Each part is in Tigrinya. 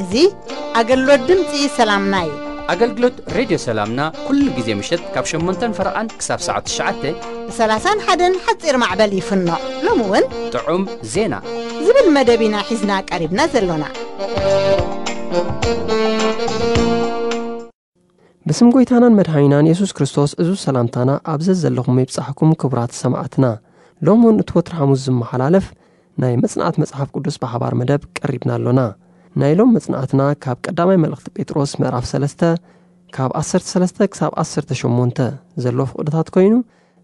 እዚ ኣገልግሎት ድምፂ ሰላምና እዩ። ኣገልግሎት ሬድዮ ሰላምና ኩሉ ግዜ ምሸት ካብ ሸሞንተን ፈረቓን ክሳብ ሰዓት ትሽዓተ ብ ሰላሳን ሓደን ሓፂር ማዕበል ይፍኖ። ሎሚ እውን ጥዑም ዜና ዝብል መደብ ኢና ሒዝና ቀሪብና ዘሎና። ብስም ጎይታናን መድሓኒናን የሱስ ክርስቶስ እዙ ሰላምታና ኣብ ዘዘለኹም ይብጻሕኩም ክቡራት ሰማዕትና። ሎም እውን እቲ ወትሪ ሓሙስ ዝመሓላለፍ ናይ መጽናዕት መጽሓፍ ቅዱስ ብሓባር መደብ ቀሪብና ኣሎና። ናይ ሎም መጽናዕትና ካብ ቀዳማይ መልእኽቲ ጴጥሮስ ምዕራፍ ሰለስተ ካብ ዓሰርተ ሰለስተ ክሳብ ዓሰርተ ሸሞንተ ዘሎ ፍቕድታት ኮይኑ፣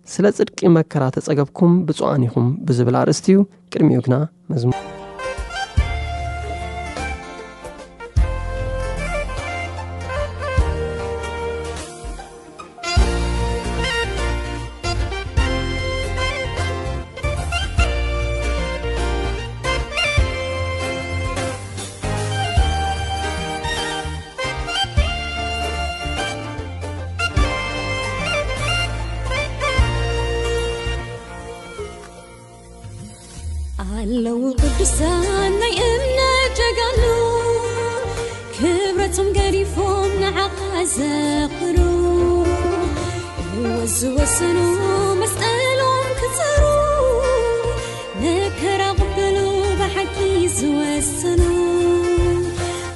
ስለ ጽድቂ መከራ ተጸገብኩም ብፁዓን ኢኹም ብዝብል ኣርእስቲ እዩ። ቅድሚኡ ግና መዝሙር ኣለዉ ቅዱሳን ናይ እምነት ጀጋኑ፣ ክብረቶም ገዲፎም ንዓኻ ዘኽሩ። ህይወት ዝወሰኑ መስቀሎም ክጸሩ፣ መከራ ቅበሉ ብሓቂ ዝወሰኑ።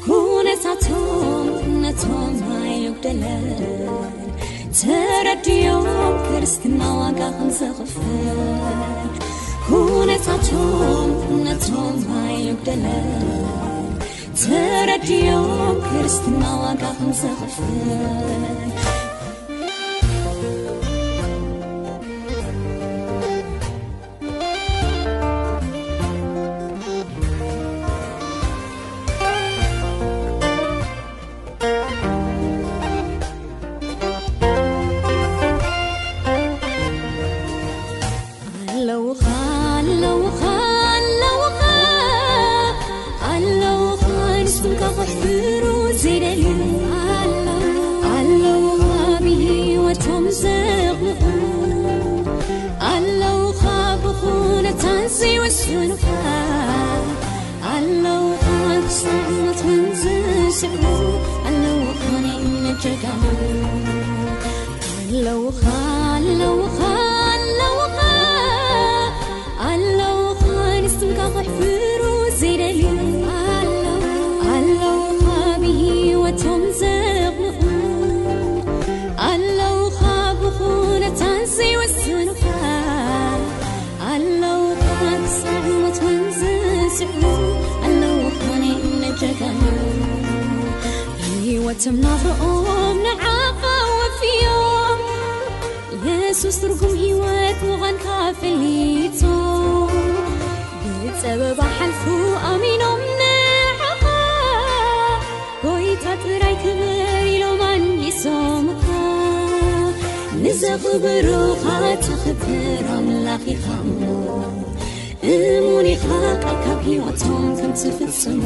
ኩነታቶም ነቶም ኣይጉደለን፣ ተረድዮም ክርስትና ዋጋ ከም ዘኽፍል። ኩነታቶም ነቶም ኣይጉደለን፣ ተረድዮም ክርስትና ዋጋ ከም ዘኽፍል። ኣለውኻ፣ ኣለውኻ፣ ኣለውኻ፣ ኣለውኻ፣ ንስምካ ከሕፍሩ ዘይደልዩ። ኣለውኻ፣ ብህይወቶም ዘቕንዑ። ኣለውኻ፣ ብኹነታት ዘይወስኑኻ። ኣለውኻ፣ ክሳዕ ሞት ውን ዝስዕሩ። ኣለውኻ፣ ናይ እምነት ጀጋኑ። ኣለውኻ፣ ኣለውኻ፣ ኣለውኻ፣ ኣለውኻ፣ ንስምካ ከሕፍሩ ዘይደልዩ። ኣለውኻ፣ ብህይወቶም ዘቕንዑ። ኣለውኻ፣ ብኹነታት ዘይወስኑኻ። ኣለውኻ፣ ክሳዕ ሞት ውን ዝስዕሩ። ኣለውኻ፣ ናይ እምነት ጀጋኑ። ህይወቶም ናብርኦም ንዓኻ ወፍዮም። የሱስ ትርጉም ህይወት ምዃንካ ፈሊጡ፣ ብጸበባ ሓልፉ ኣሚኖም ንዓኻ። ጎይታ ጥራይ ክብር ኢሎም ኣንጊሶምኻ። ንዘኽብሩኻ ተኽብር ኣምላኽ ኢኻ እሞ፣ እሙን ኢኻ ቃልካ ኣብ ህይወቶም ከም ትፍጽሞ።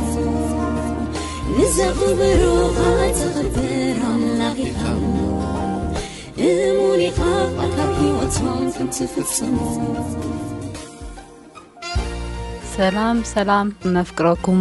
ንዘኽብሩኻ ተኽብር ኣምላኽ ኢኻ እሞ፣ እሙን ኢኻ ቃልካ ኣብ ህይወቶም ከም ትፍጽሞ። ሰላም፣ ሰላም፣ ነፍቅረኩም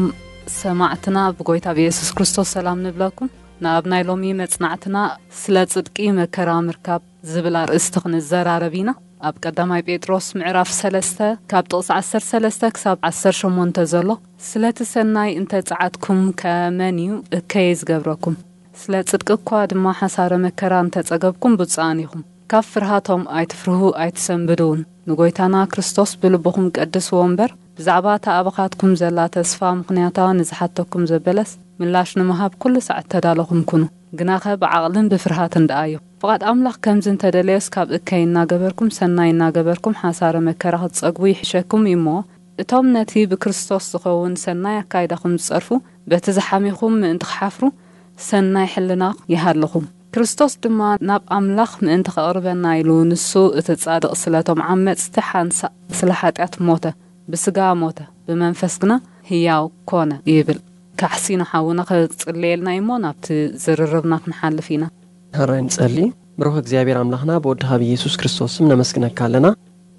ሰማዕትና ብጎይታ ብየሱስ ክርስቶስ ሰላም ንብለኩም። ናብ ናይ ሎሚ መጽናዕትና ስለ ጽድቂ መከራ ምርካብ ዝብል ኣርእስቲ ክንዘራረብ ኢና። ኣብ ቀዳማይ ጴጥሮስ ምዕራፍ ሰለስተ ካብ ጥቕሲ ዓሰርተ ሰለስተ ክሳብ ዓሰርተ ሸሞንተ ዘሎ፣ ስለቲ ሰናይ እንተ ጸዓትኩም ከ መን እዩ እከይ ዝገብረኩም? ስለ ጽድቂ እኳ ድማ ሓሳረ መከራ እንተ ጸገብኩም ብፁዓን ኢኹም። ካብ ፍርሃቶም ኣይትፍርሁ ኣይትሰንብዱ እውን። ንጎይታና ክርስቶስ ብልብኹም ቀድስዎ እምበር፣ ብዛዕባ እታ ኣባኻትኩም ዘላ ተስፋ ምኽንያታ ንዝሓተኩም ዘበለስ ምላሽ ንምሃብ ኩሉ ሳዕ እተዳለኹም ኩኑ። ግናኸ ብዓቕልን ብፍርሃትን ደኣዮ። ፍቓድ ኣምላኽ ከምዚ እንተደለዮስ ካብ እከይ እናገበርኩም ሰናይ እናገበርኩም ሓሳረ መከራ ክትጸግቡ ይሕሸኩም እዩ እሞ፣ እቶም ነቲ ብክርስቶስ ዝኸውን ሰናይ ኣካይዳኹም ዝጸርፉ፣ በቲ ዝሓሜኹም ምእንቲ ክሓፍሩ ሰናይ ሕልና ይሃልኹም። ክርስቶስ ድማ ናብ ኣምላኽ ምእንቲ ከቕርበና ኢሉ ንሱ እቲ ጻድቕ ስለቶም ዓመጽቲ ሓንሳእ ስለ ሓጢኣት ሞተ፣ ብስጋ ሞተ። ብመንፈስ ግና ህያው ኮነ ይብል። ካሕሲኖ ሓውና ከጽልየልና እሞ ናብቲ ዝርርብና ክንሓልፍ ኢና። ሕራይ ንጸሊ። ብሩኽ እግዚኣብሔር ኣምላኽና ብወድኻ ብኢየሱስ ክርስቶስ ስም ነመስግነካ ኣለና።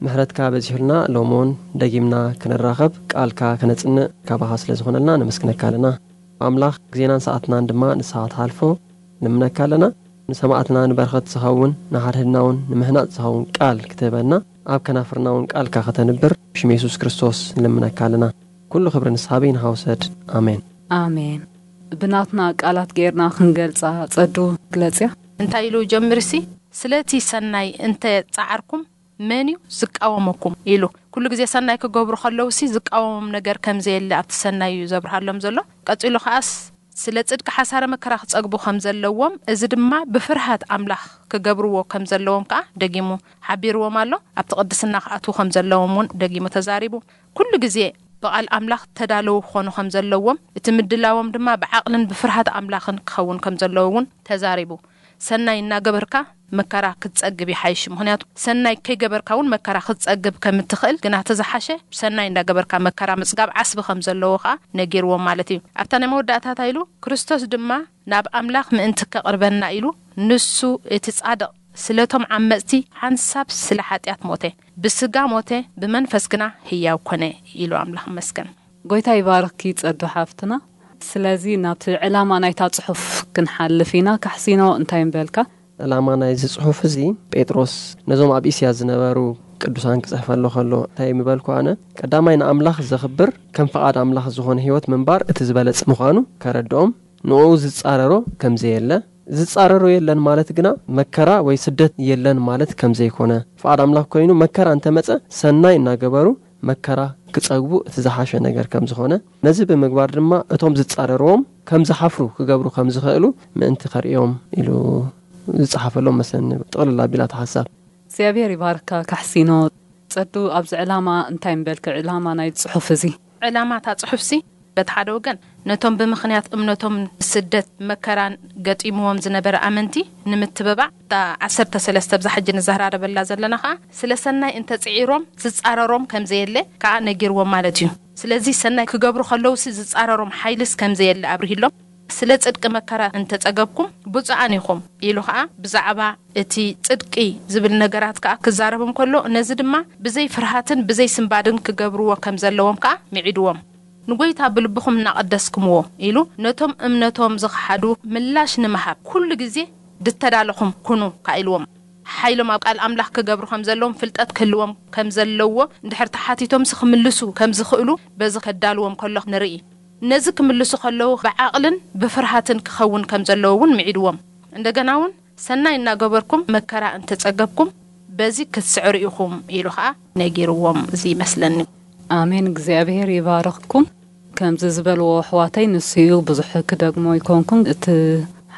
ምሕረትካ በዚሑልና ሎሞን ደጊምና ክንራኸብ ቃልካ ክነጽንዕ ካባኻ ስለ ዝኾነልና ነመስግነካ ኣለና። ኣምላኽ ግዜናን ሰዓትናን ድማ ንስኻ ትሓልፎ ንምነካ ኣለና። ንሰማዕትና ንበረኸት ዝኸውን ንሓድሕድና እውን ንምህናጽ ዝኸውን ቃል ክትህበና ኣብ ከናፍርና እውን ቃልካ ከተንብር ብሽም የሱስ ክርስቶስ ንልምነካ ኣለና። ኩሉ ክብሪ ንስኻ በይንኻ ውሰድ። ኣሜን። ኣሜን። ብናትና ቃላት ጌርና ክንገልጻ ጸዱ ግለጽያ። እንታይ ኢሉ ጀምርሲ? ስለቲ ሰናይ እንተ ጻዓርኩም መን እዩ ዝቃወመኩም? ኢሉ። ኩሉ ግዜ ሰናይ ክገብሩ ከለውሲ ዝቃወሞም ነገር ከም ዘየለ ኣብቲ ሰናይ እዩ ዘብርሃሎም ዘሎ። ቀጺሉ ከኣስ ስለ ጽድቂ ሓሳረ መከራ ክጸግቡ ከም ዘለዎም፣ እዚ ድማ ብፍርሃት ኣምላኽ ክገብርዎ ከም ዘለዎም ከኣ ደጊሙ ሓቢርዎም ኣሎ። ኣብቲ ቅድስና ክኣትዉ ከም ዘለዎም እውን ደጊሙ ተዛሪቡ። ኩሉ ግዜ ብቓል ኣምላኽ ተዳለዉ ክኾኑ ከም ዘለዎም፣ እቲ ምድላዎም ድማ ብዓቕልን ብፍርሃት ኣምላኽን ክኸውን ከም ዘለዎ እውን ተዛሪቡ። ሰናይ እናገበርካ መከራ ክትጸግብ ይሓይሽ። ምኽንያቱ ሰናይ ከይገበርካ እውን መከራ ክትጸግብ ከም እትኽእል፣ ግና እቲ ዝሓሸ ሰናይ እናገበርካ መከራ ምጽጋብ ዓስቢ ከም ዘለዎ ከኣ ነጊርዎም ማለት እዩ። ኣብታ ናይ መወዳእታ እንታይ ኢሉ? ክርስቶስ ድማ ናብ ኣምላኽ ምእንቲ ከቕርበና ኢሉ፣ ንሱ እቲ ጻድቕ ስለቶም ዓመጽቲ ሓንሳብ ስለ ሓጢኣት ሞተ፣ ብስጋ ሞተ፣ ብመንፈስ ግና ህያው ኮነ ኢሉ። ኣምላኽ ይመስገን። ጎይታ ይባርኪ ጸዱ ሓፍትና። ስለዚ ናብቲ ዕላማ ናይታ ጽሑፍ ክንሓልፍ ኢና። ካሕሲኖ እንታይ ምበልካ? ዕላማ ናይዚ ጽሑፍ እዚ ጴጥሮስ ነዞም ኣብ እስያ ዝነበሩ ቅዱሳን ክጽሕፈሎ ከሎ እንታይ ምበልኩ ኣነ? ቀዳማይ ንኣምላኽ ዘኽብር ከም ፍቓድ ኣምላኽ ዝኾነ ህይወት ምንባር እቲ ዝበለጸ ምዃኑ ከረድኦም፣ ንኡ ዝጻረሮ ከም ዘየለ፣ ዝጻረሮ የለን ማለት ግና መከራ ወይ ስደት የለን ማለት ከም ዘይኮነ፣ ፍቓድ ኣምላኽ ኮይኑ መከራ እንተመጸ ሰናይ እናገበሩ መከራ ክጸግቡ እቲ ዝሓሸ ነገር ከም ዝኾነ፣ ነዚ ብምግባር ድማ እቶም ዝጻረርዎም ከም ዝሓፍሩ ክገብሩ ከም ዝኽእሉ ምእንቲ ከርእዮም ኢሉ ዝጸሓፈሎም መስለኒ። ጥቕልል ኣቢላ እቲ ሓሳብ። እግዚኣብሔር ይባርካ ካሕሲኖ። ጸዱ፣ ኣብዚ ዕላማ እንታይ ምበልክ? ዕላማ ናይ ጽሑፍ እዚ? ዕላማ እታ ጽሑፍሲ በቲ ሓደ ወገን ነቶም ብምኽንያት እምነቶም ስደት መከራን ገጢምዎም ዝነበረ ኣመንቲ ንምትብባዕ፣ እታ ዓሰርተ ሰለስተ ብዛ ሕጂ ንዘራረበላ ዘለና ኸኣ ስለ ሰናይ እንተጽዒሮም ዝጻረሮም ከም ዘየለ ከኣ ነጊርዎም ማለት እዩ። ስለዚ ሰናይ ክገብሩ ከለውሲ ዝጻረሮም ሓይልስ ከም ዘየለ ኣብርሂሎም፣ ስለ ጽድቂ መከራ እንተጸገብኩም ብፁዓን ኢኹም ኢሉ ኸኣ ብዛዕባ እቲ ጽድቂ ዝብል ነገራት ከኣ ክዛረብ እንከሎ፣ ነዚ ድማ ብዘይ ፍርሃትን ብዘይ ስንባድን ክገብርዎ ከም ዘለዎም ከኣ ምዒድዎም። ንጎይታ ብልብኹም እናቐደስኩምዎ ኢሉ ነቶም እምነቶም ዝኸሓዱ ምላሽ ንምሃብ ኩሉ ግዜ ድተዳለኹም ኩኑ ከኣ ኢልዎም። ሓይሎም ኣብ ቃል ኣምላኽ ክገብሩ ከም ዘለዎም ፍልጠት ክህልዎም ከም ዘለዎ እንድሕር ተሓቲቶምሲ ክምልሱ ከም ዝኽእሉ በዚ ከዳልዎም ከሎ ንርኢ። ነዚ ክምልሱ ከለዉ ብዓቕልን ብፍርሃትን ክኸውን ከም ዘለዎ እውን ምዒድዎም። እንደገና እውን ሰናይ እናገበርኩም መከራ እንተጸገብኩም በዚ ክትስዕሩ ኢኹም ኢሉ ኸኣ ነጊርዎም። እዚ ይመስለኒ። ኣሜን። እግዚኣብሔር ይባርኽኩም። ከምዚ ዝበልዎ ኣሕዋተይ ንሱ እዩ፣ ብዙሕ ክደግሞ ኣይኮንኩን። እቲ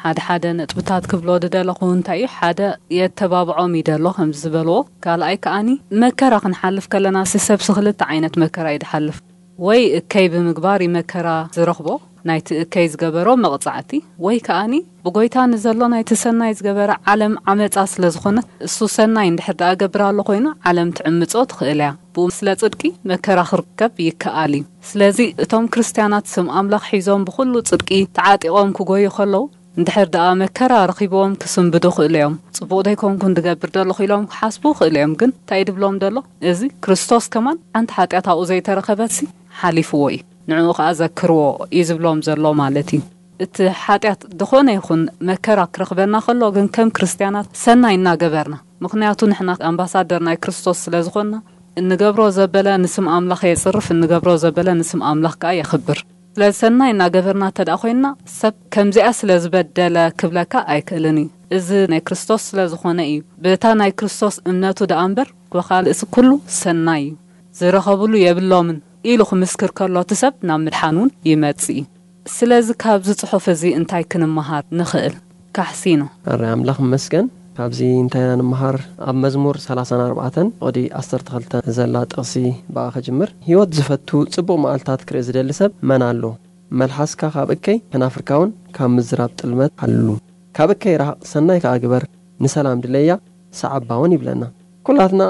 ሓደ ሓደ ነጥብታት ክብሎ ዝደለኹ እንታይ እዩ፣ ሓደ የተባብዖም ይደሎ ከምዚ ዝበልዎ። ካልኣይ ከኣኒ መከራ ክንሓልፍ ከለና ሲ ሰብሲ ክልተ ዓይነት መከራ እዩ ዝሓልፍ። ወይ እከይ ብምግባር እዩ መከራ ዝረኽቦ፣ ናይቲ እከይ ዝገበሮ መቕጻዕቲ፣ ወይ ከኣኒ ብጎይታ ንዘሎ ናይቲ ሰናይ ዝገበረ ዓለም ዓመጻ ስለ ዝኾነ፣ እሱ ሰናይ እንድሕር ደኣ ገብር ኣሎ ኮይኑ፣ ዓለም ትዕምጾ ትኽእል እያ። ብኡ ስለ ጽድቂ መከራ ክርከብ ይከኣል እዩ። ስለዚ እቶም ክርስትያናት ስም ኣምላኽ ሒዞም ብኹሉ ጽድቂ ተዓጢቖም ክጎዩ ከለዉ፣ እንድሕር ደኣ መከራ ረኺብዎም ክስንብዱ ክእሉ እዮም። ጽቡቕ ደይኮንኩን ድገብር ደለኹ ኢሎም ክሓስቡ ክእሉ እዮም። ግን እንታይ ድብሎም ደሎ? እዚ ክርስቶስ ከማን ሓንቲ ሓጢኣት ኣብኡ ዘይተረኸበትሲ ሓሊፍዎ እዩ። ንዕኡ ኸኣ ዘክርዎ እዩ ዝብሎም ዘሎ ማለት እዩ። እቲ ሓጢኣት ዝኾነ ይኹን መከራ ክረኽበና ከሎ ግን ከም ክርስትያናት ሰናይ እናገበርና፣ ምኽንያቱ ንሕና ኣምባሳደር ናይ ክርስቶስ ስለ ዝኾንና፣ እንገብሮ ዘበለ ንስም ኣምላኽ የጽርፍ፣ እንገብሮ ዘበለ ንስም ኣምላኽ ከኣ የኽብር። ስለ ሰናይ እናገበርና እንተ ደኣ ኮይንና፣ ሰብ ከምዚኣ ስለ ዝበደለ ክብለካ ኣይክእልን እዩ። እዚ ናይ ክርስቶስ ስለ ዝኾነ እዩ። በታ ናይ ክርስቶስ እምነቱ ደኣ እምበር፣ ብኻልእሲ ኩሉ ሰናይ እዩ። ዝረኸብሉ የብሎምን ኢሉ ክምስክር ከሎ፣ እቲ ሰብ ናብ ምድሓን እውን ይመጽእ እዩ። ስለዚ ካብዚ ጽሑፍ እዚ እንታይ ክንመሃር ንኽእል? ካሕሲኖ። ኣረ ኣምላኽ ይመስገን። ካብዚ እንታይ ኢና ንምሃር? ኣብ መዝሙር ሰላሳን ኣርባዕተን ፍቕዲ ዓሰርተ ክልተ ዘላ ጥቕሲ ብኣ ክጅምር። ህይወት ዝፈቱ ጽቡቕ መዓልታት ክርኢ ዝደሊ ሰብ መን ኣሎ? መልሓስካ ካብ እከይ ከናፍርካ እውን ካብ ምዝራብ ጥልመት ሓሉ። ካብ እከይ ረሃቕ፣ ሰናይ ከኣ ግበር፣ ንሰላም ድለያ፣ ሰዓባ እውን ይብለና። ኩላትና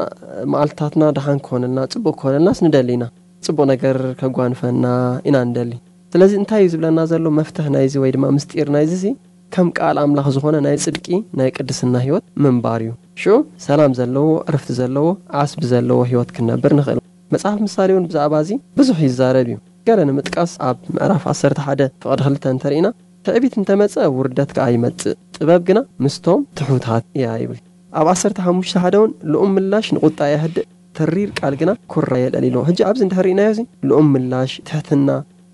መዓልትታትና ደሓን ክኾነልና፣ ጽቡቕ ክኾነልናስ ንደሊ ኢና። ጽቡቕ ነገር ከጓንፈና ኢና እንደሊ። ስለዚ እንታይ እዩ ዝብለና ዘሎ? መፍትሕ ናይዚ ወይ ድማ ምስጢር ናይዚ ሲ ከም ቃል ኣምላኽ ዝኾነ ናይ ጽድቂ ናይ ቅድስና ህይወት ምንባር እዩ። ሽዑ ሰላም ዘለዎ፣ ዕርፍቲ ዘለዎ፣ ዓስቢ ዘለዎ ህይወት ክንነብር ንኽእል። መጽሓፍ ምሳሌ እውን ብዛዕባ እዚ ብዙሕ ይዛረብ እዩ። ገለ ንምጥቃስ ኣብ ምዕራፍ ዓሰርተ ሓደ ፍቕዲ ክልተ እንተርኢና፣ ትዕቢት እንተመጸ ውርደት ከኣ ይመጽእ፣ ጥበብ ግና ምስቶም ትሑታት እያ ይብል። ኣብ ዓሰርተ ሓሙሽተ ሓደ እውን ልኡም ምላሽ ንቁጣ የህድእ፣ ተሪር ቃል ግና ኩራ የልዕል ኢሎ። ሕጂ ኣብዚ እንድሕር ርኢናዮ እዚ ልኡም ምላሽ፣ ትሕትና፣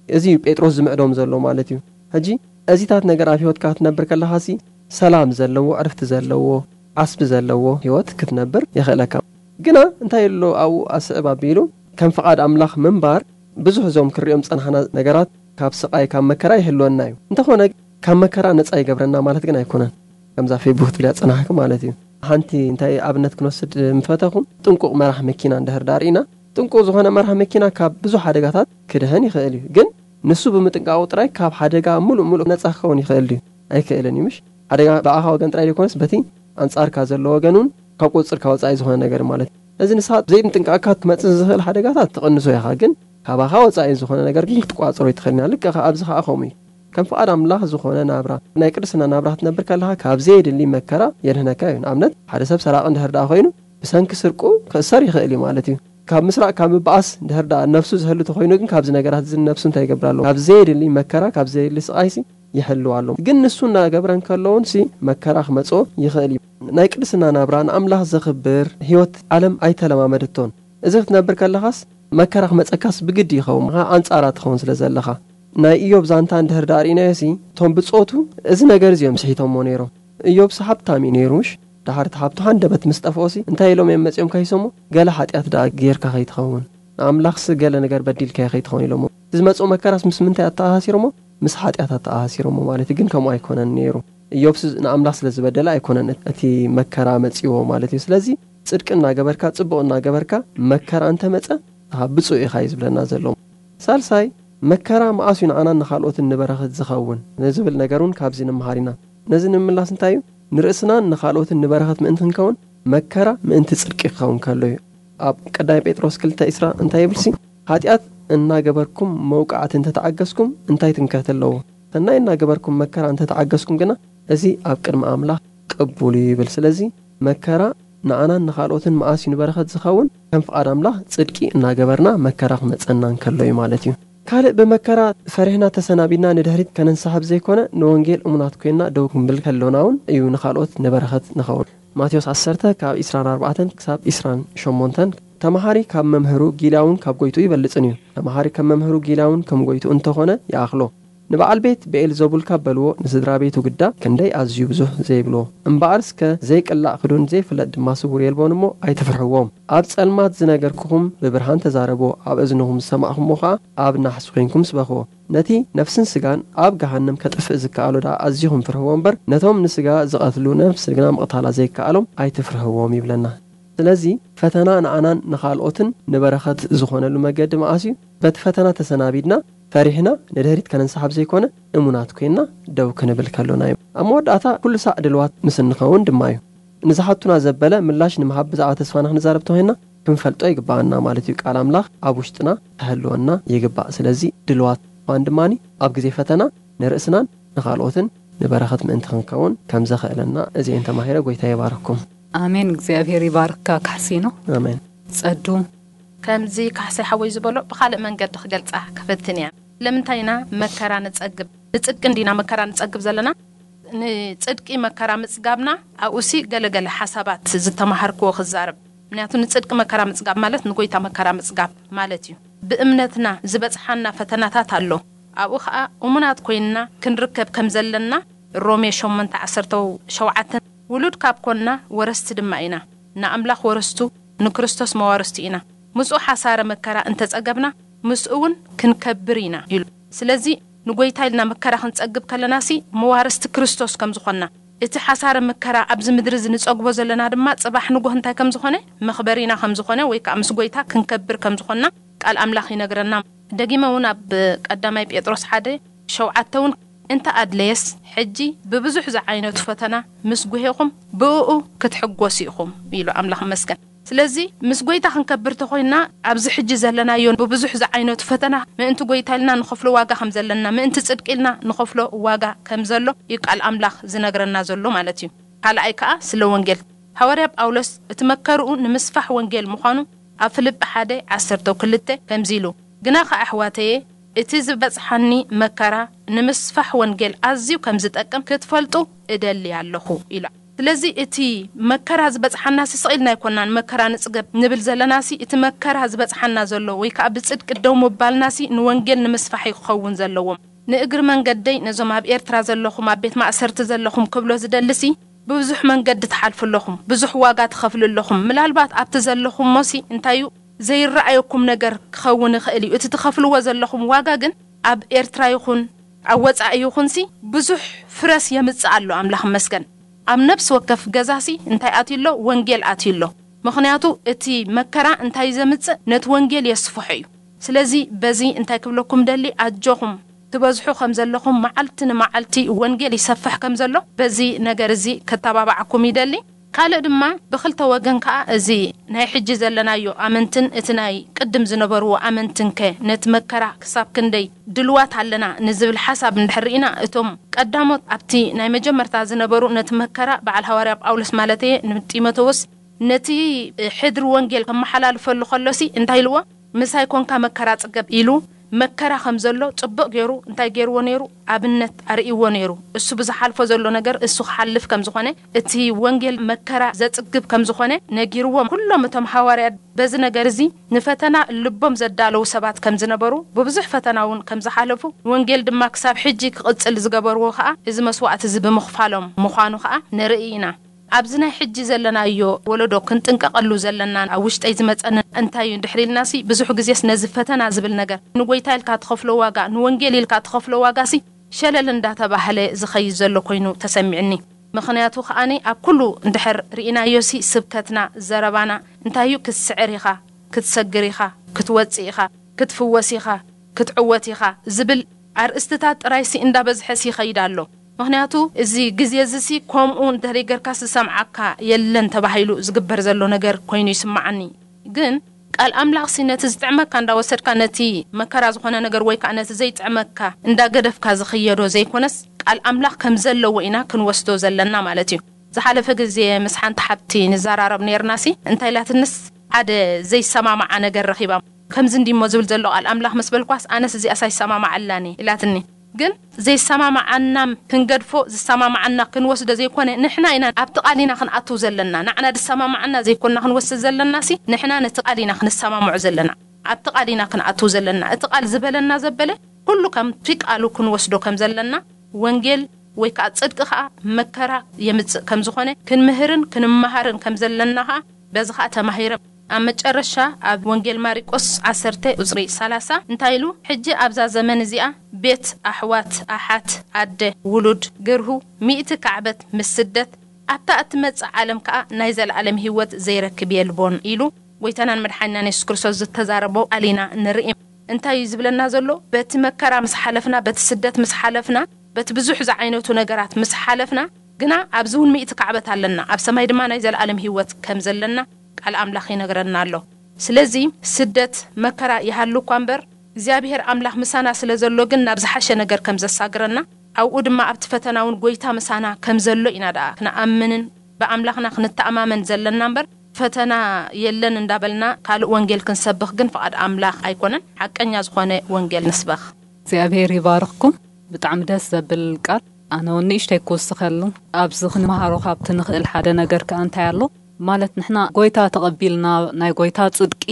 እዚ እዩ ጴጥሮስ ዝምዕዶም ዘሎ ማለት እዩ። ሕጂ እዚታት ነገር ኣብ ህይወትካ ክትነብር ከለኻሲ ሰላም ዘለዎ፣ ዕርፍቲ ዘለዎ፣ ዓስቢ ዘለዎ ህይወት ክትነብር የኽእለካ። ግና እንታይ ኣሎ ኣብኡ ኣስዕብ ኣቢሉ ከም ፍቓድ ኣምላኽ ምንባር ብዙሕ እዞም ክሪኦም ዝጸናሕና ነገራት ካብ ስቓይ ካብ መከራ ይህልወና እዩ። እንተኾነ ካብ መከራ ነጻ ይገብረና ማለት ግን ኣይኮነን። ከምዛ ፌቡ ክትብልያ ጸናሕኪ ማለት እዩ። ሓንቲ እንታይ ኣብነት ክንወስድ ምፈተኹም፣ ጥንቁቕ መራሕ መኪና እንድሕር ዳርኢና፣ ጥንቁቕ ዝኾነ መራሕ መኪና ካብ ብዙሕ ሓደጋታት ክድሕን ይኽእል እዩ። ግን ንሱ ብምጥንቃቑ ጥራይ ካብ ሓደጋ ሙሉእ ሙሉእ ነጻ ክኸውን ይኽእል ድዩ? ኣይክእልን እዩ። ምሽ ሓደጋ ብኣኻ ወገን ጥራይ ዘይኮነስ በቲ ኣንጻርካ ዘሎ ወገን እውን ካብ ቁጽርካ ወጻኢ ዝኾነ ነገር ማለት እዩ። እዚ ንስኻ ዘይምጥንቃቕካ ክመጽእ ዝኽእል ሓደጋታት ትቕንሶ ኢኻ፣ ግን ካባኻ ወጻኢ ዝኾነ ነገር ግን ክትቋጽሮ ይትኽእልን። ልክዕ ኣብዚ ኸኣ ከምኡ እዩ። ከም ፍቓድ ኣምላኽ ዝኾነ ናብራ፣ ናይ ቅድስና ናብራ ክትነብር ከለኻ ካብ ዘየድሊ መከራ የድህነካ እዩ። ንኣብነት ሓደ ሰብ ሰራቒ እንድሕር ደኣ ኮይኑ ብሰንኪ ስርቁ ክእሰር ይኽእል እዩ ማለት እዩ። ካብ ምስራቕ ካብ ምብኣስ እንድሕር ደኣ ነፍሱ ዝህሉ ተኾይኑ ግን ካብዚ ነገራት እዚ ነፍሱ እንታይ ይገብር ኣሎ? ካብ ዘየድሊ መከራ ካብ ዘየድሊ ስቓይሲ ይሕልው ኣሎ። ግን ንሱ እናገበረ እንከሎ እውን ሲ መከራ ክመጽኦ ይኽእል እዩ። ናይ ቅድስና ናብራ ንኣምላኽ ዘኽብር ህይወት ዓለም ኣይተለማመደቶን። እዚ ክትነብር ከለኻስ መከራ ክመጸካስ ብግዲ ይኸውን፣ ምኻ ኣንጻራ ትኸውን ስለ ዘለኻ። ናይ ኢዮብ ዛንታ እንድሕር ደኣ ርኢናዮ ሲ እቶም ብጾቱ እዚ ነገር እዚ እዮም ስሒቶሞ ነይሮም። ኢዮብስ ሃብታም እዩ ነይሩ ምሽ? ደሓር እቲ ሃብቱ ሃንደበት ምስ ጠፍኦሲ እንታይ ኢሎም እዮም መጺኦም ከይሶሞ? ገለ ሓጢኣት ደኣ ጌርካ ከይትኸውን፣ ንኣምላኽሲ ገለ ነገር በዲልካዮ ከይትኸውን ኢሎሞ። እዚ ዝመጽኦ መከራስ ምስ ምንታይ ኣተኣሳሲሮሞ? ምስ ሓጢኣት ኣተኣሳሲሮሞ ማለት እዩ። ግን ከምኡ ኣይኮነን ነይሩ። ኢዮብስ ንኣምላኽ ስለ ዝበደለ ኣይኮነን እቲ መከራ መጺዎ ማለት እዩ። ስለዚ ጽድቂ እናገበርካ ጽቡቕ እናገበርካ መከራ እንተመጸ ብፁዕ ኢኻ እዩ ዝብለና ዘሎ። ሳልሳይ፣ መከራ መኣስ እዩ ንዓናን ንኻልኦትን ንበረኸት ዝኸውን ንዝብል ነገር እውን ካብዚ ንምሃር ኢና። ነዚ ንምምላስ እንታይ እዩ? ንርእስናን ንኻልኦትን ንበረኸት ምእንቲ ክንከውን መከራ ምእንቲ ጽድቂ ክኸውን ከሎ እዩ። ኣብ ቀዳማይ ጴጥሮስ ክልተ ዕስራ እንታይ ይብልሲ? "ሓጢኣት እናገበርኩም መውቃዕቲ እንተተዓገስኩም እንታይ ትምክሕቲ ኣለዎ? ሰናይ እናገበርኩም መከራ እንተተዓገስኩም ግና እዚ ኣብ ቅድሚ ኣምላኽ ቅቡል እዩ" ይብል። ስለዚ መከራ ንዓናን ንኻልኦትን መኣስ እዩ ንበረኸት ዝኸውን? ከም ፍቓድ ኣምላኽ ጽድቂ እናገበርና መከራ ክመጸና እንከሎ እዩ ማለት እዩ። ካልእ ብመከራ ፈሪሕና ተሰናቢድና ንድሕሪት ከነንሳሕብ ዘይኮነ ንወንጌል እሙናት ኮይንና ደው ክንብል ከሎና እውን እዩ ንኻልኦት ንበረኸት ንኸውን። ማቴዎስ ዓሰርተ ካብ ዕስራን ኣርባዕተን ክሳብ ዕስራን ሸሞንተን፣ "ተማሃሪ ካብ መምህሩ ጊላውን ካብ ጎይቱ ይበልጽን እዩ። ተማሃሪ ከም መምህሩ ጊላውን ከም ጎይቱ እንተኾነ ይኣኽሎ። ንበዓል ቤት ብኤልዘቡል ካብ በልዎ ንስድራ ቤቱ ግዳ ክንደይ ኣዝዩ ብዙሕ ዘይብልዎ። እምበኣር እስከ ዘይቅላዕ ክዱን ዘይፍለጥ ድማ ስውር የልቦን እሞ ኣይትፍርሕዎም። ኣብ ጸልማት ዝነገርኩኹም ብብርሃን ተዛረብዎ፣ ኣብ እዝንኹም ዝሰማዕኹምዎ ኸኣ ኣብ ናሕሲ ኮይንኩም ስበኽዎ። ነቲ ነፍስን ስጋን ኣብ ገሃነም ከጥፍእ ዝከኣሎ ደኣ ኣዚኹም ፍርህዎ እምበር፣ ነቶም ንስጋ ዝቐትሉ ነፍሲ ግና ምቕታላ ዘይከኣሎም ኣይትፍርህዎም" ይብለና። ስለዚ ፈተና ንኣናን ንኻልኦትን ንበረኸት ዝኾነሉ መገዲ መኣስ እዩ? በቲ ፈተና ተሰናቢድና፣ ፈሪሕና፣ ንድሕሪት ከነንሳሕብ ዘይኮነ፣ እሙናት ኮይንና ደው ክንብል ከሎና እዩ። ኣብ መወዳእታ ኩሉ ሳዕ ድልዋት ምስ እንኸውን ድማ እዩ። ንዝሓቱና ዘበለ ምላሽ ንምሃብ ብዛዕባ ተስፋና ክንዛረብ ተኾይንና ክንፈልጦ ይግባኣና ማለት እዩ። ቃል ኣምላኽ ኣብ ውሽጥና ክህልወና ይግባእ። ስለዚ ድልዋት ምዃን ድማ ኣብ ግዜ ፈተና ንርእስናን ንኻልኦትን ንበረኸት ምእንቲ ክንከውን ከም ዘኽእለና እዚኤን ተማሂረ። ጎይታ ይባርኩም። ኣሜን። እግዚኣብሔር ይባርካ ካሕሲኖ። ኣሜን። ጸዱ። ከምዚ ካሕሳይ ሓወይ ዝበሎ ብኻልእ መንገዲ ክገልጻ ክፍትን እያ። ስለምንታይ ኢና መከራ ንጸግብ? ንጽድቂ እንዲና መከራ ንጸግብ ዘለና? ንጽድቂ መከራ ምጽጋብና ኣብኡሲ ገለገለ ሓሳባት ዝተማሃርክዎ ክዛረብ። ምክንያቱ ንጽድቂ መከራ ምጽጋብ ማለት ንጎይታ መከራ ምጽጋብ ማለት እዩ። ብእምነትና ዝበጽሓና ፈተናታት ኣሎ። ኣብኡ ኸኣ እሙናት ኮይንና ክንርከብ ከም ዘለና ሮሜ ሸሞንተ ዓሰርተ ሸውዓተ፣ ውሉድ ካብ ኮንና ወረስቲ ድማ ኢና። ንኣምላኽ ወረስቱ፣ ንክርስቶስ መዋርስቱ ኢና። ምስኡ ሓሳረ መከራ እንተጸገብና፣ ምስኡ እውን ክንከብር ኢና ኢሉ። ስለዚ ንጎይታ ኢልና መከራ ክንጸግብ ከለናሲ መዋርስቲ ክርስቶስ ከም ዝኾንና፣ እቲ ሓሳረ መከራ ኣብዚ ምድሪ እዚ ንጸግቦ ዘለና ድማ ጽባሕ ንጎህ እንታይ ከም ዝኾነ፣ መኽበሪና ከም ዝኾነ ወይ ከኣ ምስ ጎይታ ክንከብር ከም ዝኾንና ቃል ኣምላኽ ይነግረና። ደጊመ እውን ኣብ ቀዳማይ ጴጥሮስ ሓደ ሸውዓተ እውን፣ "እንተ ኣድለየስ፣ ሕጂ ብብዙሕ ዝዓይነቱ ፈተና ምስ ጉሄኹም ብእኡ ክትሕጎሱ ኢኹም" ኢሉ። ኣምላኽ ይመስገን። ስለዚ ምስ ጎይታ ክንከብር ተኾይና ኣብዚ ሕጂ ዘለናዮ ብብዙሕ ዝዓይነቱ ፈተና ምእንቲ ጎይታ ኢልና ንኸፍሎ ዋጋ ከም ዘለና፣ ምእንቲ ጽድቂ ኢልና ንኸፍሎ ዋጋ ከም ዘሎ እዩ ቃል ኣምላኽ ዝነግረና ዘሎ ማለት እዩ። ካልኣይ ከኣ ስለ ወንጌል። ሃዋርያ ጳውሎስ እቲ መከርኡ ንምስፋሕ ወንጌል ምዃኑ ኣብ ፊልጲ ሓደ ዓሰርተ ክልተ ከምዚ ኢሉ፣ ግናኸ ኣሕዋተየ፣ እቲ ዝበጽሓኒ መከራ ንምስፋሕ ወንጌል ኣዝዩ ከም ዝጠቅም ክትፈልጡ እደሊ ኣለኹ ኢሉ። ስለዚ እቲ መከራ ዝበጽሓና ሲ ስቕ ኢልና ኣይኮናን፣ መከራ ንጽገብ ንብል ዘለና ሲ፣ እቲ መከራ ዝበጽሓና ዘሎ ወይ ከኣ ብጽድቂ ደው ምባልና ሲ ንወንጌል ንምስፋሕ እዩ ክኸውን ዘለዎም። ንእግሪ መንገደይ ነዞም ኣብ ኤርትራ ዘለኹም፣ ኣብ ቤት ማእሰርቲ ዘለኹም ክብሎ ዝደሊ ሲ፣ ብብዙሕ መንገዲ ትሓልፉ ኣለኹም፣ ብዙሕ ዋጋ ትኸፍሉ ኣለኹም። ምላልባት ኣብቲ ዘለኹሞ ሲ እንታይ እዩ ዘይረኣየኩም ነገር ክኸውን ይኽእል እዩ። እቲ ትኸፍልዎ ዘለኹም ዋጋ ግን ኣብ ኤርትራ ይኹን ኣብ ወጻኢ ይኹን ሲ ብዙሕ ፍረስ የምጽእ ኣሎ። ኣምላኽ መስገን። ኣብ ነፍሲ ወከፍ ገዛ ሲ እንታይ ኣትዩ ኣሎ? ወንጌል ኣትዩ ኣሎ። ምኽንያቱ እቲ መከራ እንታይ ዘምጽእ? ነቲ ወንጌል የስፍሖ እዩ። ስለዚ በዚ እንታይ ክብለኩም ደሊ? ኣጆኹም ትበዝሑ ከም ዘለኹም፣ መዓልቲ ንመዓልቲ ወንጌል ይሰፍሕ ከም ዘሎ በዚ ነገር እዚ ከተባባዓኩም ይደሊ። ካልእ ድማ ብኽልተ ወገን ከኣ እዚ ናይ ሕጂ ዘለናዮ ኣመንትን እቲ ናይ ቅድም ዝነበርዎ ኣመንትን ከ ነቲ መከራ ክሳብ ክንደይ ድልዋት ኣለና ንዝብል ሓሳብ እንድሕር ርኢና፣ እቶም ቀዳሞት ኣብቲ ናይ መጀመርታ ዝነበሩ ነቲ መከራ፣ በዓል ሃዋርያ ጳውሎስ ማለት እየ ንጢሞቴዎስ ነቲ ሕድሪ ወንጌል ከመሓላልፈሉ ከሎሲ እንታይ ኢልዎ? ምሳይ ኮንካ መከራ ጽገብ ኢሉ መከራ ከም ዘሎ ጽቡቕ ገይሩ እንታይ ገይርዎ ነይሩ? ኣብነት ኣርእይዎ ነይሩ። እሱ ብዝሓልፎ ዘሎ ነገር እሱ ክሓልፍ ከም ዝኾነ፣ እቲ ወንጌል መከራ ዘጽግብ ከም ዝኾነ ነጊርዎም። ኩሎም እቶም ሃዋርያት በዚ ነገር እዚ ንፈተና ልቦም ዘዳለዉ ሰባት ከም ዝነበሩ፣ ብብዙሕ ፈተና እውን ከም ዝሓለፉ፣ ወንጌል ድማ ክሳብ ሕጂ ክቕጽል ዝገበርዎ ከኣ እዚ መስዋእቲ እዚ ብምኽፋሎም ምዃኑ ከኣ ንርኢ ኢና። ኣብዚ ናይ ሕጂ ዘለናዮ ወለዶ ክንጥንቀቐሉ ዘለና፣ ኣብ ውሽጠይ ዝመጸኒ እንታይ እዩ እንድሕር ኢልናሲ፣ ብዙሕ ግዜስ ነዚ ፈተና ዝብል ነገር ንጎይታ ኢልካ ትኸፍሎ ዋጋ፣ ንወንጌል ኢልካ ትኸፍሎ ዋጋሲ ሸለል እንዳተባህለ ዝኸይድ ዘሎ ኮይኑ ተሰሚዕኒ። ምኽንያቱ ከኣኒ ኣብ ኩሉ እንድሕር ርኢናዮሲ ስብከትና፣ ዘረባና እንታይ እዩ? ክትስዕር ኢኻ፣ ክትሰግር ኢኻ፣ ክትወጽእ ኢኻ፣ ክትፍወስ ኢኻ፣ ክትዕወት ኢኻ ዝብል ኣርእስትታት ጥራይሲ እንዳበዝሐሲ ይኸይድ ኣሎ። ምኽንያቱ እዚ ግዜ እዚሲ ከምኡ እንተደይ ጌርካስ ዝሰምዓካ የለን ተባሂሉ ዝግበር ዘሎ ነገር ኮይኑ ይስምዓኒ። ግን ቃል ኣምላኽሲ ነቲ ዝጥዕመካ እንዳወሰድካ ነቲ መከራ ዝኾነ ነገር ወይ ከኣ ነቲ ዘይጥዕመካ እንዳገደፍካ ዝኽየዶ ዘይኮነስ ቃል ኣምላኽ ከም ዘለዎ ኢና ክንወስዶ ዘለና ማለት እዩ። ዝሓለፈ ግዜ ምስ ሓንቲ ሓብቲ ንዘራረብ ነይርናሲ እንታይ ኢላትንስ ሓደ ዘይሰማማዓ ነገር ረኺባ። ከምዚ እንዲሞ ዝብል ዘሎ ቃል ኣምላኽ ምስ በልኳስ ኣነስ እዚኣስ ኣይሰማማዓላኒ ኢላትኒ። ግን ዘይሰማማዓና ክንገድፎ ዝሰማማዓና ክንወስዶ ዘይኮነ ንሕና ኢና ኣብቲ ቃል ኢና ክንኣትው ዘለና። ንዓና ዝሰማማዓና ዘይኮንና ክንወስድ ዘለናሲ ንሕና ነቲ ቃል ኢና ክንሰማምዖ ዘለና። ኣብቲ ቃል ኢና ክንኣትው ዘለና። እቲ ቃል ዝበለና ዘበለ ኩሉ ከምቲ ቃሉ ክንወስዶ ከም ዘለና ወንጌል ወይ ከኣ ጽድቂ ከኣ መከራ የምጽእ ከም ዝኾነ ክንምህርን ክንመሃርን ከም ዘለና ከኣ በዚ ከኣ ተማሂረ። ኣብ መጨረሻ ኣብ ወንጌል ማርቆስ ዓሰርተ ቁጽሪ ሰላሳ እንታይ ኢሉ? ሕጂ ኣብዛ ዘመን እዚኣ ቤት፣ ኣሕዋት፣ ኣሓት፣ ኣደ፣ ውሉድ፣ ግርሁ፣ ሚእቲ ካዕበት ምስ ስደት ኣብታ እትመጽእ ዓለም ከኣ ናይ ዘለኣለም ህይወት ዘይረክብ የልቦን ኢሉ ጎይታናን መድሓኒናን የሱስ ክርስቶስ ዝተዛረቦ ቃል ኢና ንርኢ። እንታይ እዩ ዝብለና ዘሎ? በቲ መከራ ምስ ሓለፍና፣ በቲ ስደት ምስ ሓለፍና፣ በቲ ብዙሕ ዝዓይነቱ ነገራት ምስ ሓለፍና፣ ግና ኣብዚ እውን ሚእቲ ካዕበት ኣለና፣ ኣብ ሰማይ ድማ ናይ ዘለኣለም ህይወት ከም ዘለና ቃል ኣምላኽ ይነግረና ኣሎ። ስለዚ ስደት መከራ ይሃሉ እኳ እምበር፣ እግዚኣብሔር ኣምላኽ ምሳና ስለ ዘሎ ግን ናብ ዝሓሸ ነገር ከም ዘሳግረና፣ ኣብኡ ድማ ኣብቲ ፈተና እውን ጎይታ ምሳና ከም ዘሎ ኢና ደኣ ክንኣምንን ብኣምላኽና ክንተኣማመን ዘለና እምበር፣ ፈተና የለን እንዳበልና ካልእ ወንጌል ክንሰብኽ ግን ፍቓድ ኣምላኽ ኣይኮነን። ሓቀኛ ዝኾነ ወንጌል ንስበኽ። እግዚኣብሔር ይባርኽኩም። ብጣዕሚ ደስ ዘብል ቃል። ኣነ እውን ንእሽተይ ክውስኸሉ፣ ኣብዚ ክንመሃሮ ካብቲ ንኽእል ሓደ ነገር ከኣ እንታይ ኣሎ ማለት፣ ንሕና ጎይታ ተቐቢልና ናይ ጎይታ ጽድቂ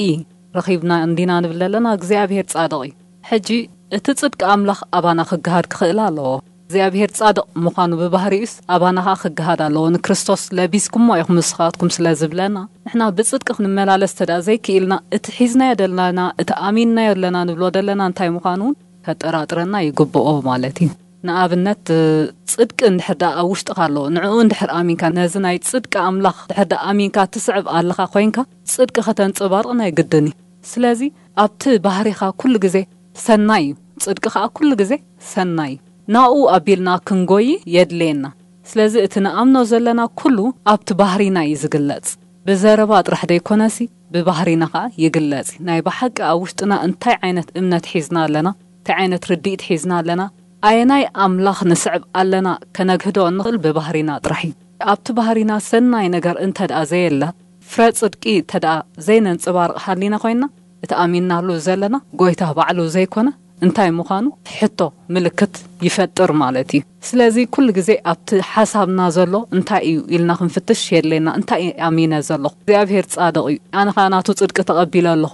ረኺብና እንዲና ንብል ዘለና፣ እግዚኣብሔር ጻድቕ እዩ። ሕጂ እቲ ጽድቂ ኣምላኽ ኣባና ክገሃድ ክኽእል ኣለዎ። እግዚኣብሔር ጻድቕ ምዃኑ ብባህሪኡስ ኣባና ኸኣ ክገሃድ ኣለዎ። ንክርስቶስ ለቢስኩሞ ኢኹም ንስኻትኩም ስለ ዝብለና፣ ንሕና ብጽድቂ ክንመላለስ እንተ ደኣ ዘይክኢልና፣ እቲ ሒዝናዮ ደለና፣ እቲ ኣሚንናዮ ኣለና ንብሎ ደለና እንታይ ምዃኑ እውን ከጠራጥረና ይግብኦ ማለት እዩ። ንኣብነት፣ ጽድቂ እንድሕር ደኣ ኣብ ውሽጥኻ ኣሎ፣ ንዕኡ እንድሕር ኣሚንካ፣ ነዚ ናይ ጽድቂ ኣምላኽ እንድሕር ደኣ ኣሚንካ ትስዕብ ኣለኻ ኮይንካ፣ ጽድቂ ከተንጸባርቕ ናይ ግድን እዩ። ስለዚ ኣብቲ ባህሪኻ ኩሉ ግዜ ሰናይ እዩ፣ ጽድቂ ኸኣ ኩሉ ግዜ ሰናይ እዩ። ናብኡ ኣቢልና ክንጎይ የድልየና። ስለዚ እቲ ንኣምኖ ዘለና ኩሉ ኣብቲ ባህሪና እዩ ዝግለጽ። ብዘረባ ጥራሕ ዘይኮነሲ ብባህሪና ኸኣ ይግለጽ። ናይ ብሓቂ ኣብ ውሽጥና እንታይ ዓይነት እምነት ሒዝና ኣለና፣ እንታይ ዓይነት ርድኢት ሒዝና ኣለና፣ ኣየናይ ኣምላኽ ንስዕብ ኣለና ከነግህዶ እንኽእል ብባህሪና ጥራሕ እዩ። ኣብቲ ባህሪና ሰናይ ነገር እንተ ደኣ ዘየለ፣ ፍረ ጽድቂ እንተ ደኣ ዘይነንጽባርቕ ሃሊና ኮይንና፣ እቲ ኣሚንናሉ ዘለና ጎይታ ባዕሉ ዘይኮነ እንታይ ምዃኑ ሕቶ ምልክት ይፈጥር ማለት እዩ። ስለዚ ኩሉ ግዜ ኣብቲ ሓሳብና ዘሎ እንታይ እዩ ኢልና ክንፍትሽ የድለየና። እንታይ ኣሚነ ዘለኹ? እግዚኣብሔር ጻድቕ እዩ። ኣነ ኸኣ ናቱ ጽድቂ ተቐቢለ ኣለኹ።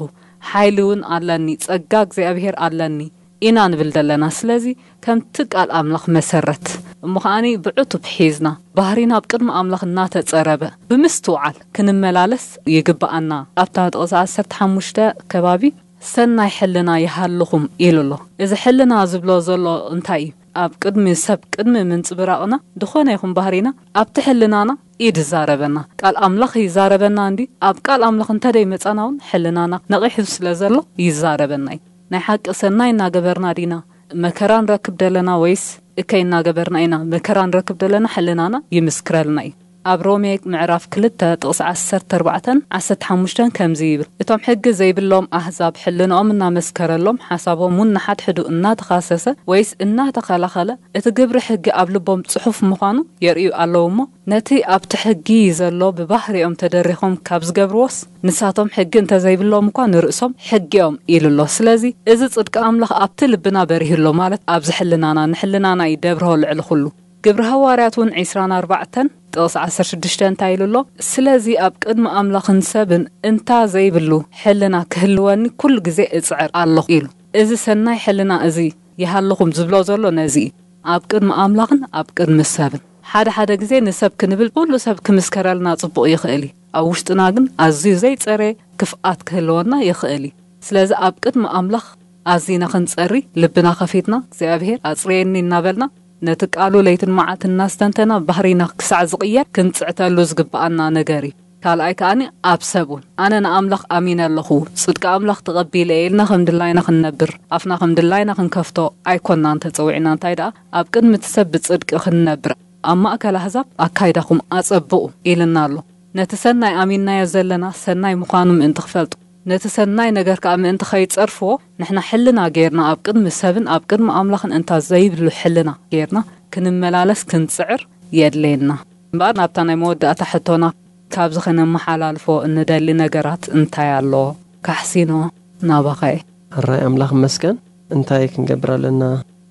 ሓይሊ እውን ኣለኒ፣ ጸጋ እግዚኣብሔር ኣለኒ ኢና ንብል ዘለና። ስለዚ ከምቲ ቃል ኣምላኽ መሰረት እሞ ከኣኒ ብዕቱብ ሒዝና ባህሪና ኣብ ቅድሚ ኣምላኽ እናተጸረበ ብምስትውዓል ክንመላለስ ይግብኣና። ኣብታ ጥቕሲ ዓሰርተ ሓሙሽተ ከባቢ ሰናይ ሕልና ይሃልኹም ኢሉ ኣሎ። እዚ ሕልና ዝብሎ ዘሎ እንታይ እዩ? ኣብ ቅድሚ ሰብ ቅድሚ ምንጽብራቕና ዝኾነ ይኹን ባህሪና ኣብቲ ሕልናና ኢድ ይዛረበና፣ ቃል ኣምላኽ ይዛረበና እንዲ ኣብ ቃል ኣምላኽ እንተደይ መጻና እውን ሕልናና ነቒሑ ስለ ዘሎ ይዛረበና እዩ። ናይ ሓቂ ሰናይ እናገበርና ዲና መከራ ንረክብ ደለና ወይስ እከይ እናገበርና ኢና መከራ ንረክብ ደለና? ሕልናና ይምስክረልና እዩ። ኣብ ሮሜ ምዕራፍ ክልተ ጥቕሲ ዓሰርተ ኣርባዕተን ዓሰርተ ሓሙሽተን ከምዚ ይብል፣ እቶም ሕጊ ዘይብሎም ኣህዛብ ሕልንኦም እናመስከረሎም ሓሳቦም እውን ንሓድሕዱ እናተኻሰሰ ወይስ እናተኸላኸለ እቲ ግብሪ ሕጊ ኣብ ልቦም ጽሑፍ ምዃኑ የርእዩ ኣለዉ እሞ ነቲ ኣብቲ ሕጊ ዘሎ ብባህሪኦም ተደሪኾም ካብ ዝገብርዎስ ንሳቶም ሕጊ እንተዘይብሎም እኳ ንርእሶም ሕጊ እዮም ኢሉ ኣሎ። ስለዚ እዚ ጽድቂ ኣምላኽ ኣብቲ ልብና በሪሁ ኣሎ ማለት ኣብዚ ሕልናና ንሕልናና እዩ ደብርሆ ልዕሊ ኩሉ። ግብሪ ሃዋርያት እውን ዕስራን ኣርባዕተን ጥቕሲ ዓሰርተ ሽዱሽተ እንታይ ኢሉ ኣሎ? ስለዚ ኣብ ቅድሚ ኣምላኽን ሰብን እንታ ዘይብሉ ሕልና ክህልወኒ ኩሉ ግዜ እጽዕር ኣለኹ ኢሉ። እዚ ሰናይ ሕልና እዚ ይሃልኹም ዝብሎ ዘሎ ነዚ እዩ። ኣብ ቅድሚ ኣምላኽን ኣብ ቅድሚ ሰብን። ሓደ ሓደ ግዜ ንሰብ ክንብል ኩሉ ሰብ ክምስከረልና ጽቡቕ ይኽእል እዩ። ኣብ ውሽጥና ግን ኣዝዩ ዘይጸረየ ክፍኣት ክህልወና ይኽእል እዩ። ስለዚ ኣብ ቅድሚ ኣምላኽ ኣዚና ክንጸሪ ልብና ከፊትና እግዚኣብሔር ኣጽርየኒ እናበልና ነቲ ቃሉ ለይትን መዓልትን እናስተንተና ባህሪና ክሳዕ ዝቕየር ክንጽዕተሉ ዝግብኣና ነገር እዩ። ካልኣይ ከኣኒ ኣብ ሰብ እውን ኣነ ንኣምላኽ ኣሚነ ኣለኹ፣ ጽድቂ ኣምላኽ ተቐቢለ እየ ኢልና ከም ድላይና ክንነብር ኣፍና ከም ድላይና ክንከፍቶ ኣይኮናን ተጸዊዕና። እንታይ ደኣ ኣብ ቅድሚ እቲ ሰብ ብጽድቂ ክንነብር ኣብ ማእከል ኣህዛብ ኣካይዳኹም ኣጸብቑ ኢልና ኣሎ። ነቲ ሰናይ ኣሚንናዮ ዘለና ሰናይ ምዃኑ ምእንቲ ክፈልጡ ነቲ ሰናይ ነገር ከኣ ምእንቲ ኸይጸርፍዎ ንሕና ሕልና ጌርና ኣብ ቅድሚ ሰብን ኣብ ቅድሚ ኣምላኽን እንታ ዘይብሉ ሕልና ጌርና ክንመላለስ ክንጽዕር የድልየና። እምበኣር ናብታ ናይ መወዳእታ ሕቶና ካብዚ ኸነመሓላልፎ እንደሊ ነገራት እንታይ ኣሎ? ካሕሲኖ ናባኸ እየ። ሕራይ ኣምላኽ ይመስገን። እንታይ ክንገብር ኣለና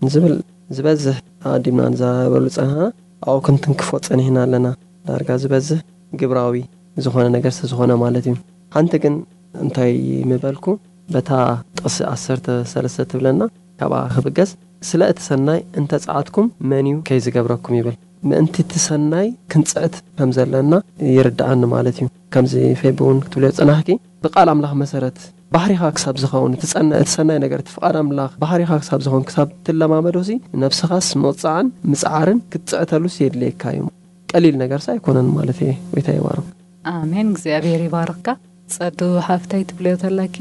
ንዝብል ዝበዝሕ ኣቐዲምና ንዛረበሉ ጸኒሕና ኣብኡ ክንትንክፎ ጸኒሕና ኣለና። ዳርጋ ዝበዝሕ ግብራዊ ዝኾነ ነገር ስለ ዝኾነ ማለት እዩ። ሓንቲ ግን እንታይ ምበልኩ በታ ጥቕሲ ዓሰርተ ሰለስተ ትብለና ካብኣ ክብገስ ስለ እቲ ሰናይ እንተጸዓትኩም መን እዩ ከይዝገብረኩም ይብል። ምእንቲ እቲ ሰናይ ክንጽዕት ከም ዘለና ይርድኣኒ ማለት እዩ። ከምዚ ፌቢ እውን ክትብልዮ ጽናሕኪ ብቃል ኣምላኽ መሰረት ባህሪኻ ክሳብ ዝኸውን እቲ ጸና- እቲ ሰናይ ነገር እቲ ፍቓድ ኣምላኽ ባህሪኻ ክሳብ ዝኸውን ክሳብ ትለማመዶሲ ነብስኻስ ምቕጻዕን ምጽዓርን ክትጽዕተሉስ የድልየካ እዩ። ቀሊል ነገርስ ኣይኮነን ማለት እየ። ወይታ ይባርክ። ኣሜን። እግዚኣብሔር ይባርካ። ጸዱ ሓፍተይ ትብልዮ ተለኪ?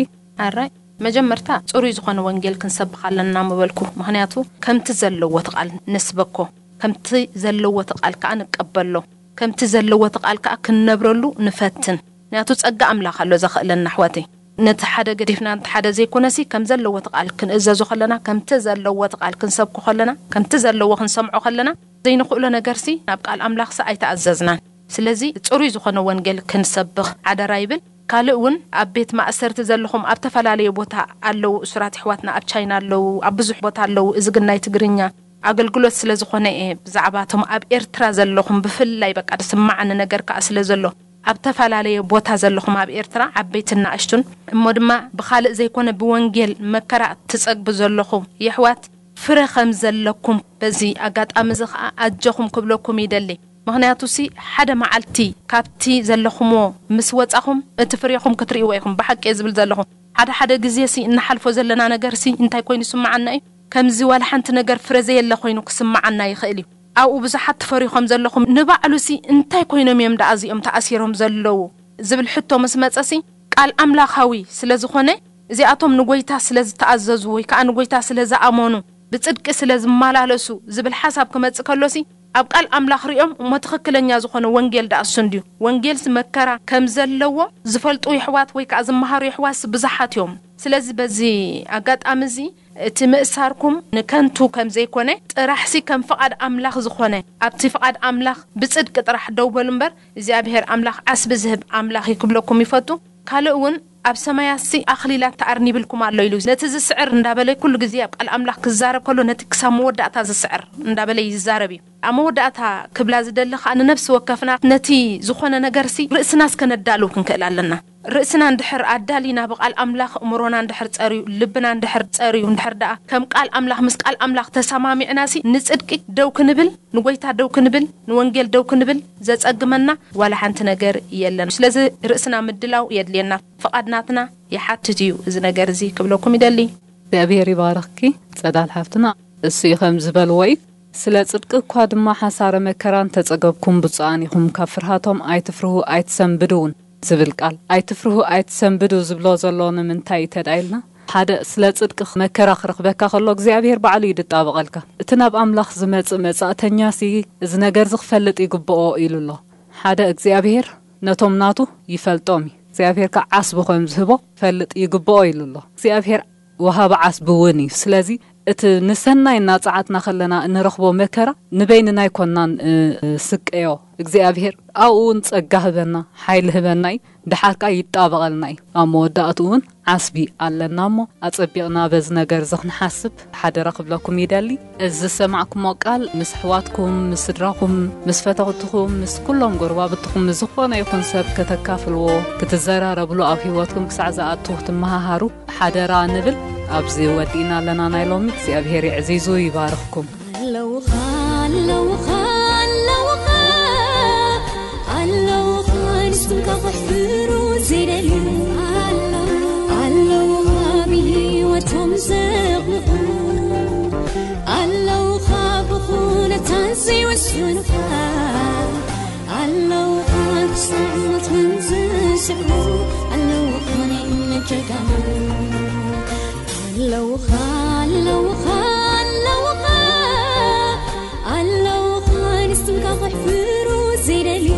ኣራይ መጀመርታ ጽሩይ ዝኾነ ወንጌል ክንሰብኽ ኣለና ምበልኩ። ምኽንያቱ ከምቲ ዘለዎ እቲ ቃል ንስበኮ፣ ከምቲ ዘለዎ እቲ ቃል ከኣ ንቀበሎ፣ ከምቲ ዘለዎ እቲ ቃል ከኣ ክንነብረሉ ንፈትን። ምኽንያቱ ጸጋ ኣምላኽ ኣሎ ዘኽእለና ኣሕዋተይ። ነቲ ሓደ ገዲፍና ነቲ ሓደ ዘይኮነሲ ከም ዘለዎ እቲ ቃል ክንእዘዞ ከለና፣ ከምቲ ዘለዎ እቲ ቃል ክንሰብኮ ከለና፣ ከምቲ ዘለዎ ክንሰምዖ ከለና ዘይንኽእሎ ነገርሲ ናብ ቃል ኣምላኽሲ ኣይተኣዘዝናን። ስለዚ ጽሩይ ዝኾነ ወንጌል ክንሰብኽ ሓደራ ይብል። ካልእ እውን ኣብ ቤት ማእሰርቲ ዘለኹም ኣብ ተፈላለየ ቦታ ኣለዉ እሱራት ኣሕዋትና ኣብ ቻይና ኣለዉ ኣብ ብዙሕ ቦታ ኣለዉ። እዚ ግን ናይ ትግርኛ ኣገልግሎት ስለ ዝኾነ እየ ብዛዕባቶም ኣብ ኤርትራ ዘለኹም ብፍላይ በቃ ዝስማዓኒ ነገር ከኣ ስለ ዘሎ ኣብ ተፈላለየ ቦታ ዘለኹም ኣብ ኤርትራ ዓበይትን ንኣሽቱን እሞ ድማ ብኻልእ ዘይኮነ ብወንጌል መከራ ትጸግቡ ዘለኹም የሕዋት ፍረ ከም ዘለኩም በዚ ኣጋጣሚ እዚ ከኣ ኣጆኹም ክብለኩም ይደሊ። ምኽንያቱሲ ሓደ መዓልቲ ካብቲ ዘለኹምዎ ምስ ወጻኹም እቲ ፍሬኹም ክትርእይዎ ኢኹም። ብሓቂ እየ ዝብል ዘለኹ። ሓደ ሓደ ግዜሲ እንሓልፎ ዘለና ነገርሲ እንታይ ኮይኑ ይስምዓና እዩ? ከምዚ ዋላ ሓንቲ ነገር ፍረ ዘየለ ኮይኑ ክስምዓና ይኽእል እዩ። ኣብኡ ብዙሓት ትፈርዩ ከም ዘለኹም ንባዕሉሲ እንታይ ኮይኖም እዮም ደኣ እዚኦም ተኣሲሮም ዘለዉ ዝብል ሕቶ ምስ መጸሲ ቃል ኣምላኻዊ ስለ ዝኾነ እዚኣቶም ንጎይታ ስለ ዝተኣዘዙ ወይ ከኣ ንጎይታ ስለ ዝኣመኑ ብጽድቂ ስለ ዝመላለሱ ዝብል ሓሳብ ክመጽእ ከሎሲ ኣብ ቃል ኣምላኽ ሪኦም እሞ ትኽክለኛ ዝኾነ ወንጌል ደኣ እሱ እንድዩ። ወንጌልሲ መከራ ከም ዘለዎ ዝፈልጡ የሕዋት ወይ ከዓ ዝመሃሩ የሕዋትሲ ብዙሓት እዮም። ስለዚ በዚ ኣጋጣሚ እዚ እቲ ምእሳርኩም ንከንቱ ከም ዘይኮነ ጥራሕሲ ከም ፍቓድ ኣምላኽ ዝኾነ ኣብቲ ፍቓድ ኣምላኽ ብጽድቂ ጥራሕ ደው በሉ እምበር እግዚኣብሔር ኣምላኽ ዓስቢ ዝህብ ኣምላኽ እዩ ክብለኩም ይፈቱ። ካልእ እውን ኣብ ሰማያሲ ኣኽሊላት ተኣርኒብልኩም ኣሎ ኢሉ ነቲ ዝስዕር እንዳበለ ኩሉ ግዜ ኣብ ቃል ኣምላኽ ክዛረብ ከሎ ነቲ ክሳብ መወዳእታ ዝስዕር እንዳበለ ይዛረብ እዩ። ኣብ መወዳእታ ክብላ ዝደሊ ከኣ ንነፍሲ ወከፍና ነቲ ዝኾነ ነገርሲ ርእስና እስከ ነዳልው ክንክእል ኣለና። ርእስና እንድሕር ኣዳሊና ብቃል ኣምላኽ እምሮና እንድሕር ጸርዩ ልብና እንድሕር ጸርዩ እንድሕር ደኣ ከም ቃል ኣምላኽ ምስ ቃል ኣምላኽ ተሰማሚዕናሲ ንጽድቂ ደው ክንብል ንጎይታ ደው ክንብል ንወንጌል ደው ክንብል ዘጸግመና ዋላ ሓንቲ ነገር የለን። ስለዚ ርእስና ምድላው የድልየና። ፍቓድ ናትና ይሓትት እዩ እዚ ነገር እዚ ክብለኩም ይደሊ። እግዚኣብሔር ይባርኽኪ ጸዳል ሓፍትና። እሱ እዩ ከም ዝበልዎ እዩ። ስለ ጽድቂ እኳ ድማ ሓሳረ መከራ እንተጸገብኩም ብፁዓን ኢኹም፣ ካብ ፍርሃቶም ኣይትፍርሁ ኣይትሰንብዱ እውን ዝብል ቃል። ኣይትፍርሁ ኣይትሰንብዱ ዝብሎ ዘሎ ንምንታይ እዩ ተዳኢልና? ሓደ ስለ ጽድቂ መከራ ክረኽበካ ከሎ እግዚኣብሔር ባዕሉ እዩ ዝጣበቐልካ። እቲ ናብ ኣምላኽ ዝመጽእ መጻእተኛሲ እዚ ነገር እዚ ክፈልጥ ይግብኦ ኢሉ ኣሎ። ሓደ እግዚኣብሔር ነቶም ናቱ ይፈልጦም እዩ። እግዚኣብሔር ከዓ ዓስቢ ከም ዝህቦ ፈልጥ ይግብኦ ኢሉ ኣሎ። እግዚኣብሔር ወሃቢ ዓስቢ እውን እዩ። ስለዚ እቲ ንሰናይ እናጸዓትና ከለና እንረኽቦ መከራ ንበይንና ኣይኮናን፣ እ፣ ስቀዮ። እግዚኣብሔር ኣብኡ እውን ጸጋ ህበና፣ ሓይሊ ህበና እዩ። ደሓር ከኣ ይጣበቐልና እዩ። ኣብ መወዳእቱ እውን ዓስቢ ኣለና እሞ ኣጸቢቕና በዚ ነገር እዚ ክንሓስብ ሓደራ ክብለኩም ይደሊ። እዚ ዝሰማዕኩሞ ቃል ምስ ኣሕዋትኩም፣ ምስ ስድራኹም፣ ምስ ፈተውትኹም፣ ምስ ኩሎም ጎረባብትኹም፣ ምስ ዝኾነ ይኹን ሰብ ከተካፍልዎ፣ ክትዘራረብሉ፣ ኣብ ህይወትኩም ክሳዕ ዝኣቱ ክትመሃሃሩ ሓደራ ንብል። ኣብዚ ወዲእና ኣለና ናይ ሎሚ። እግዚኣብሔር ይዕዚዙ ይባርኽኩም። ኣለውኻ፣ ኣለውኻ፣ ኣለውኻ፣ ኣለውኻ፣ ንስምካ ከሕፍሩ ዘይደልዩ። ኣለውኻ፣ ኣለውኻ፣ ብህይወቶም ዘቕንቑ። ኣለውኻ፣ ብኹነታት ዘይወስኑኻ። ኣለውኻ፣ ክሳዕ ሞት ውን ዝስዕቡ። ኣለውኻ፣ ናይ እምነት ጀጋኑ። ኣለውኻ፣ ኣለውኻ፣ ኣለውኻ፣ ኣለውኻ፣ ንስምካ ከሕፍሩ ዘይደልዩ።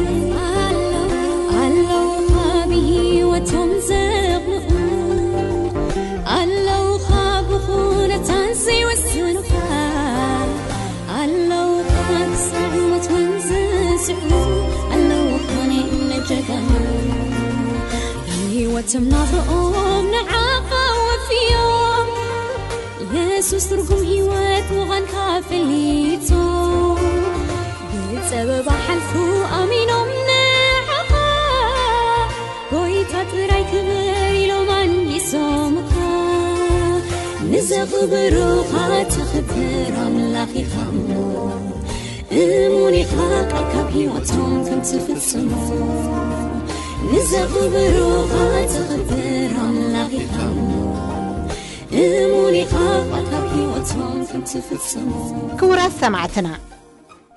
ኣለውኻ፣ ብህይወቶም ዘቕንቑ። ኣለውኻ፣ ብኹነታት ዘይወስኑኻ። ኣለውኻ፣ ክሳዕ ሞት ውን ዝስዕቡ። ኣለውኻ፣ ናይ እምነት ጀጋኑ። ህይወቶም ናብርኦም ንዓኻ ወፍዮም። የሱስ ትርጉም ህይወት ምዃንካ ፈሊጡ። ብጸበባ ሓልፉ ኣሚኖም ንዓኻ። ጎይታ ጥራይ ክብር ኢሎም ኣንጊሶምካ። ንዘኽብሩኻ ተኽብር ኣምላኽ ኢኻ እሞ። እሙን ኢኻ ቃልካ ኣብ ህይወቶም ከም ትፍጽሞ። ንዘኽብሩኻ ተኽብር ኣምላኽ ኢኻ እሞ። እሙን ኢኻ ቃልካ ኣብ ህይወቶም ከም ትፍጽሞ። ክቡራት ሰማዕትና፣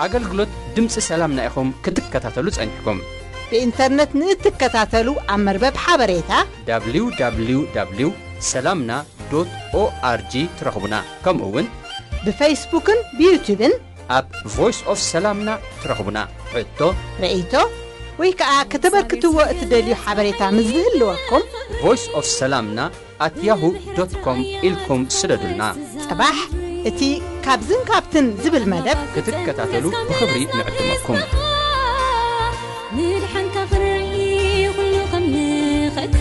ኣገልግሎት ድምፂ ሰላምና ኢኹም ክትከታተሉ ጸኒሕኩም። ብኢንተርነት ንእትከታተሉ ኣብ መርበብ ሓበሬታ www ሰላምና ኦርጂ ትረኽቡና። ከምኡ እውን ብፌስቡክን ብዩቱብን ኣብ ቮይስ ኦፍ ሰላምና ትረኽቡና። ሕቶ፣ ርእይቶ ወይ ከዓ ከተበርክትዎ እትደልዩ ሓበሬታ ምስ ዝህልወኩም ቮይስ ኦፍ ሰላምና ኣት ያሁ ዶት ኮም ኢልኩም ስደዱልና። ጽባሕ እቲ ካብዝን ካብትን ዝብል መደብ ክትከታተሉ ብኽብሪ ንዕድመኩም። ምድሓንካ ክርኢ ኩሉ ከም ንኽእካ፣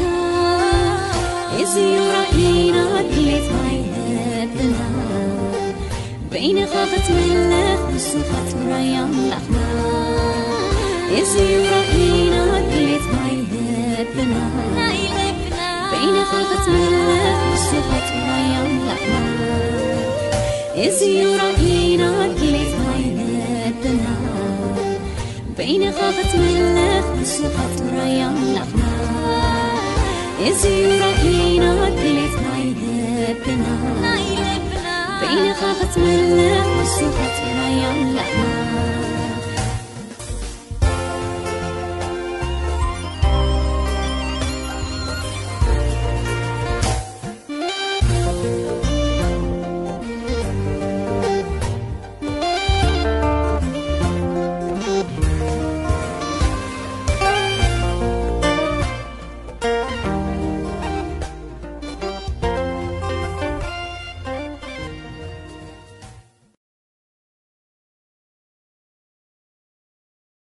እዚ እዩ ራእይና ድሌትና ይነብና። በይንኻ ክትምለኽ ንስኻ ጥራይ ኣምላኽና። እዚ እዩ ራእይና ድሌትና ይነብና። በይንኻ ክትምለኽ ንስኻ ጥራይ ኣምላኽና። እዚ እዩ ራእይና ድሌትና ይነብና። በይንኻ ክትምለኽ ንስኻ ጥራይ ኣምላኽና። እዚ እዩ ራእይና ድሌትና ይነብና። በይንኻ ክትምለኽ ንስኻ ጥራይ ኣምላኽና።